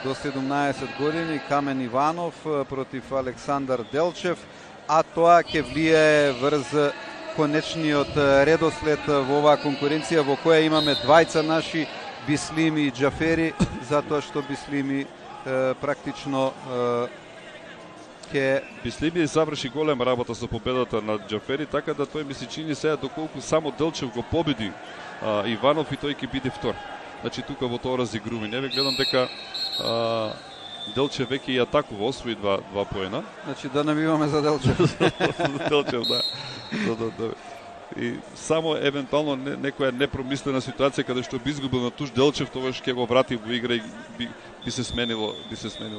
до 17 години, Камен Иванов против Александар Делчев, а тоа ќе влијае врз конечниот редослед во оваа конкуренција во која имаме двајца наши, Бислими и Џафери, затоа што Бислими практично Бислими заврши голема работа со победата над Џафери, така да тој ми се чини сега доколку само Делчев го победи Иванов и тој ќе биде втор. Значи тука во тоа разигрување, не ве гледам дека Делчев веќе и атакува, освои два поена. Значи да набиваме за Делчев. Делчев, да. И само евентуално некоја непромислена ситуација каде што би изгубил на туш Делчев, тогаш ќе го врати во игра и би се сменило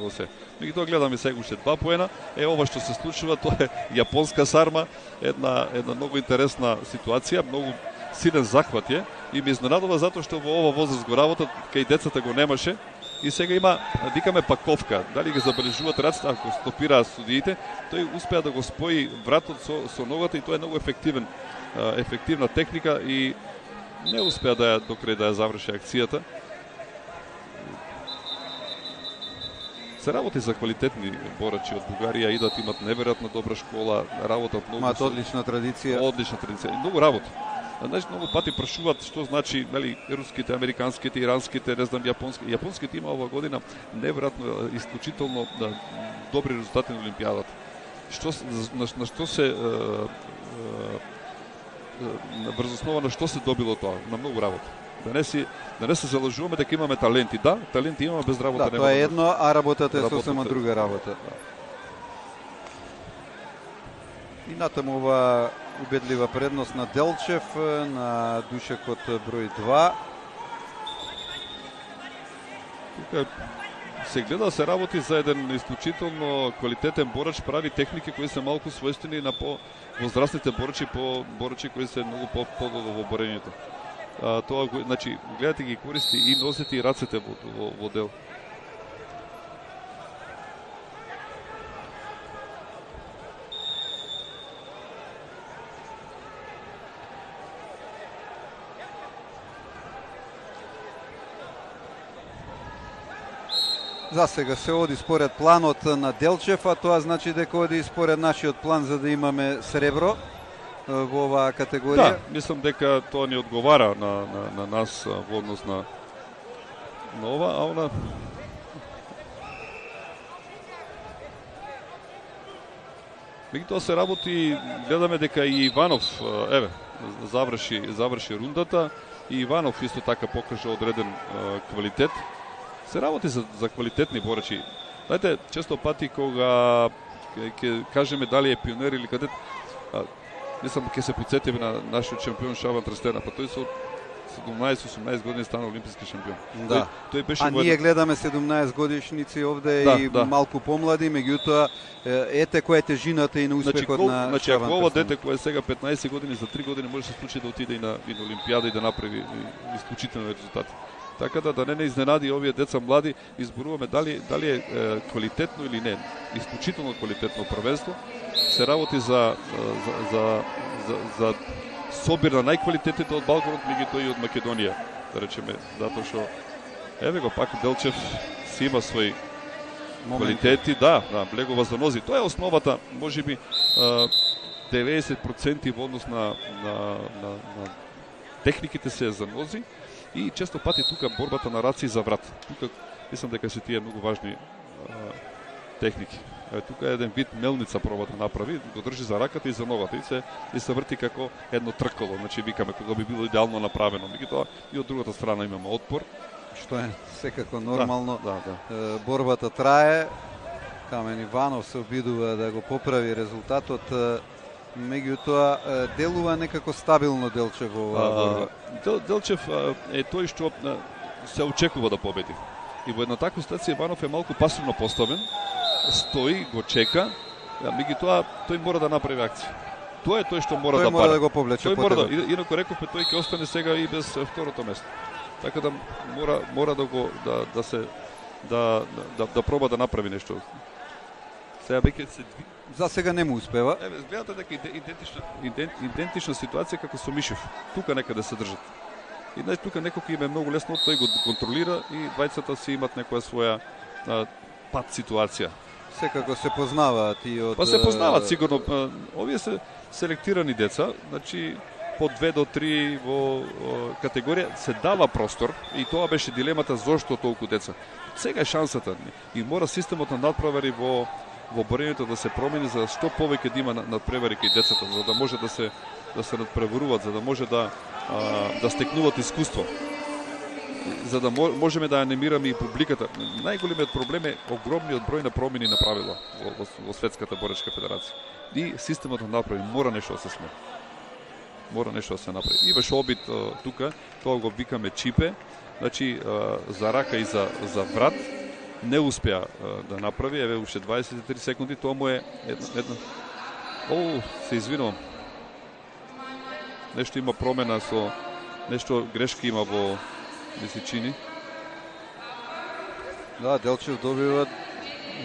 се. Меѓутоа гледаме сега уште 2 поена. Ова што се случува, тоа е јапонска сарма, една многу интересна ситуација, многу силен захват е и ме изненадува затоа што во ова возраст го работат, кај децата го немаше. И сега има, викаме паковка, дали ги забележуваат раците, ако стопираат судиите, тој успеа да го спои вратот со ногата и тоа е многу ефективна техника и не успеа да ја докрај да ја заврши акцијата. Се работи за квалитетни борачи од Бугарија, идат, имат неверојатно добра школа, работат многу. Имаат одлична традиција. Одлична традиција. Многу работа. Значи, многу пати прашуваат што значи, нели, руските, американските, иранските, не знам, јапонските. Јапонските има оваа година неверојатно исклучително добри резултати на Олимпијадата. На што се врз основа на што се добило тоа? На многу работа. Да не се залажуваме дека имаме таленти. Да, таленти имаме, без работа нема. Да, тоа е едно, а работата е сосема друга работа. И натаму ова убедлива предност на Делчев, на душекот број 2. Тука се гледа, се работи за еден исклучително квалитетен борач, прави техники кои се малку својствени на по-возрастните борачи кои се многу по-подолу во борењето. Тоа, значи, гледате ги користи и носите и рацете во дел. За сега се оди според планот на Делчев, а тоа значи дека оди според нашиот план за да имаме сребро во оваа категорија. Да, мислам дека тоа ни одговара на нас во однос на ова, а она меѓутоа се работи, гледаме дека и Иванов заврши рундата и Иванов исто така покажа одреден квалитет. Се работи за квалитетни борачи. Знаете, често пати кога ќе кажеме дали е пионер или кадет, мислам ќе се подсетиме на нашиот шампион Шабан Трстена, па тој со 17-18 години стана олимписки шампион. Да. Тој беше ние гледаме 17 годишници овде и малку помлади, меѓутоа ете која е тежината и на успехот на Шабан Трстена. Значи ако ова дете кое сега 15 години за 3 години може се случи да отиде и на Олимпијада и да направи исклучителни резултати. Така да не изненади овие деца млади, изборуваме дали е квалитетно или не, исклучително квалитетно првенство. Се работи за собир на најквалитетните од Балканот, меѓутоа и од Македонија, да речеме, затоа што еве го пак Делчев си има своји квалитети, да, влегува за нози. Тоа е основата, можеби 90% во однос на техниките се за нози. И често пати тука борбата на раци за врат. Тука мислам дека се тие многу важни техники. Тука еден вид мелница проба да направи, го држи за раката и за ногата и се врти како едно тркало, значи викаме кога би било идеално направено. Меѓутоа и од другата страна имаме отпор, што е секако нормално. Борбата трае. Камен Иванов се обидува да го поправи резултатот. Меѓутоа делува некако стабилно Делчев во оваа борба. Делчев е тој што се очекува да победи. И во една таква ситуација Иванов е малку пасивно поставен, стои, го чека, меѓутоа тој мора да направи акција. Тоа е тој што мора да мора да го повлече потебот. Инаку рековме тој ќе остане сега и без второто место. Така да мора да го да проба да направи нешто. Сега веќе се за сега не му успева. Гледате дека идентична ситуација како со Мишев. Тука некаде се држат. И тука некој им е многу лесно, тој го контролира и двајцата си имат некоја своја пат ситуација. Секако се познаваат и од... Па се познаваат сигурно. Овие се селектирани деца, значи по 2 до 3 во категорија се дава простор и тоа беше дилемата зошто толку деца. Сега е шансата и мора системот на надпревари во борењето да се промени за што повеќе да има надпревари кај децата, за да може да се надпреваруваат, за да може да стекнуваат искуство. За да можеме да анимираме и публиката. Најголемиот проблем е огромниот број на промени на правила во Светската боречка федерација. И системот на надпревари мора нешто да се смени. Мора нешто да се направи. Имаш обид тука, тоа го викаме чипе, значи за рака и за врат не успеа да направи, еве уште 23 секунди, тоа му е една... се извинувам. Нешто има промена со... Нешто грешка има во... ми се чини. Да, Делчев добива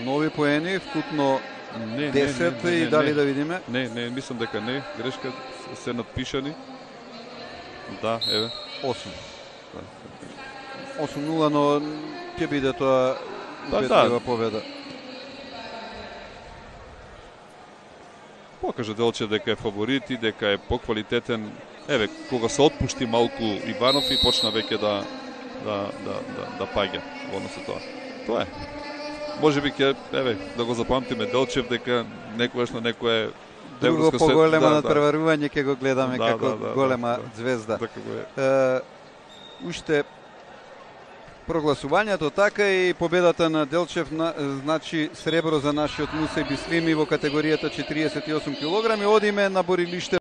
нови поени, вкупно 10 и дали да видиме? Не, мислам дека не, грешка се надпишани. Да, еве. 8. 8-0, но ќе биде тоа убедлива победа. Покажа Делчев дека е фаворит и дека е поквалитетен. Еве, кога се отпушти малку Иванов и почна веќе да паѓа во однос со тоа. Тоа е. Можеби ќе, еве, да го запамтиме Делчев дека некогаш на некое друго поголема надпреварување ќе го гледаме како голема звезда. Уште прогласувањето така и победата на Делчев значи сребро за нашиот Мусај Бислими во категоријата 48 кг. Одиме на борилиште